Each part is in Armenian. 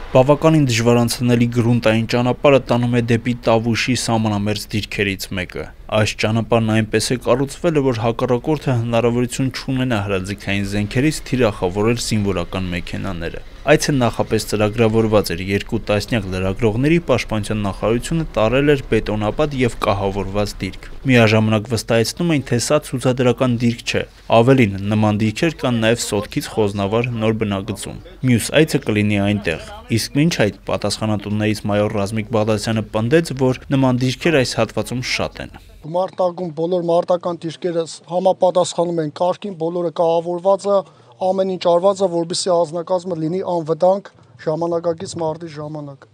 Բավականին դժվար անցնելի գրունտային ճանապարհը տանում է դեպի Տավուշի սահմանամերձ դիրքերից մեկը։ Այս ճանապարհն այնպես է կառուցվել, որ հակառակորդը հնարավորություն չունենա հրաձգային զենքերից թիրախավորել զինվորական մեքենաները։ Այցը նախապես ծրագրավորված էր, 2 տասնյակ լրագրողների պաշտպանության նախարարությունը տարել էր բետոնապատ եւ կահավորված դիրք։ Միաժամանակ վստահեցնում էին, թե սա ցուցադրական դիրք չէ։ Ավելին, նման դիրքեր կան նաեւ Սոտքից Խոզնավար նոր բնակցում։ Մյուս այցը կլինի այնտեղ։ Իսկ մինչ այդ պատասխանատուներից մայոր Ռազմիկ Բաղդասյանը պնդեց, որ նման դիրքեր այս հատվածում շատ են։ Մարտակում բոլոր մարտական դիրքերը համապատասխանում են կարգին, բոլորը կահավորված է, ամեն ինչ արված է, որպեսզի անձնակազմը լինի անվտանգ ժամանակակից մարտի ժամանակ։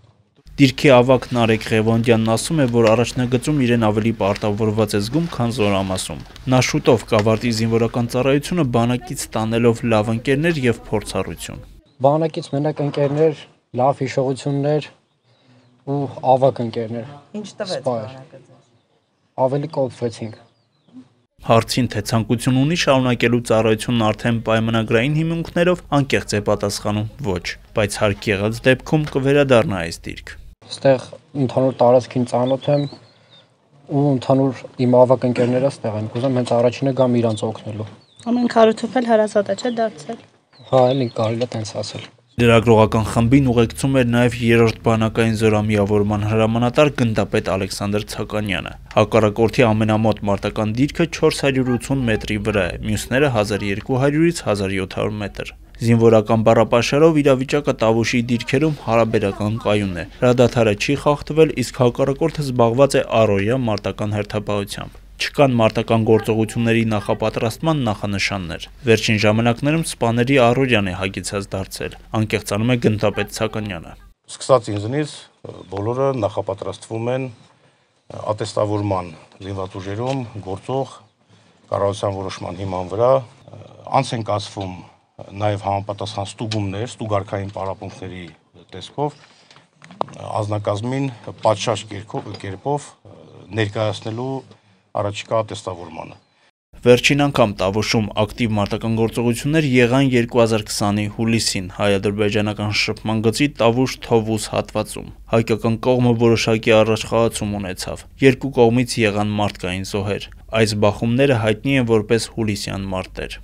Դիրքի ավագ Նարեկ Ղևոնդյանն ասում է, որ առաջնագծում իրեն ավելի պարտավորված է զգում, քան Զորամասում։ Նա շուտով կավարտի զինվորական ծառայությունը բանակից ստանելով լավ ընկերներ եւ փորձառություն։ Բանակից մենակ ընկերներ, լավ հիշողություններ ու ավագ ընկերներ։ Ինչ տվեց բանակը։ Ավելի կոփվեցինք։ Հարցին, թե ցանկություն ունի շարունակելու ծառայությունն արդեն պայմանագրային հիմունքներով, անկեղծ է պատասխանում ոչ, բայց հարկ եղած դեպքում կվերադառնա այս դիրք։ Այստեղ ընդհանուր տարածքին ծանոթ եմ ու ընդհանուր իմ ավագ ընկերները այստեղ են։ Կուզեմ հենց առաջինը գամ իրանց օգնելու։ Ամեն քարոթոփել հարազատ է, չէ՞ դարձել։ Հա, էլի կարելի է տենց ասել։ Լրագրողական խմբին ուղեկցում էր նաև 3-րդ բանակային զորամիավորման հրամանատար գնդապետ Ալեքսանդր Ցականյանը։ Հակառակորդի ամենամոտ մարտական դիրքը 480 մետրի վրա է, մյուսները 1200-ից 1700 մետր։ Զինվորական բառապաշարով իրավիճակը Տավուշի դիրքերում հարաբերական կայուն է։ Հրադադարը չի խախտվել, իսկ հակառակորդը զբաղված է առօրյա մարտական հերթապահությամբ։ Չկան մարտական գործողությունների նախապատրաստման նախանշաններ։ Վերջին ժամանակներում սպաների առօրյան է հագեցած դարձել, անկեղծանում է գնդապետ Ցականյանը։ Սկսած ինձնից բոլորը նախապատրաստվում են ատեստավորման զինված ուժերում գործող կառավարության որոշման հիման վրա, անց են կացվում նաև համապատասխան ստուգումներ, ստուգարքային պարապմունքների տեսքով անձնակազմին պատշաճ կերպով ներկայացնելու առաջիկա ատեստավորմանը։ Վերջին անգամ Տավուշում ակտիվ մարտական գործողություններ եղան 2020-ի հուլիսին հայ-ադրբեջանական շփման գծի Տավուշ-Թովուզ հատվածում։ Հայկական կողմը որոշակի առաջխաղացում ունեցավ։ Երկու կողմից եղան մարդկային զոհեր։ Այս բախումները հայտնի են որպես հուլիսյան մարտեր։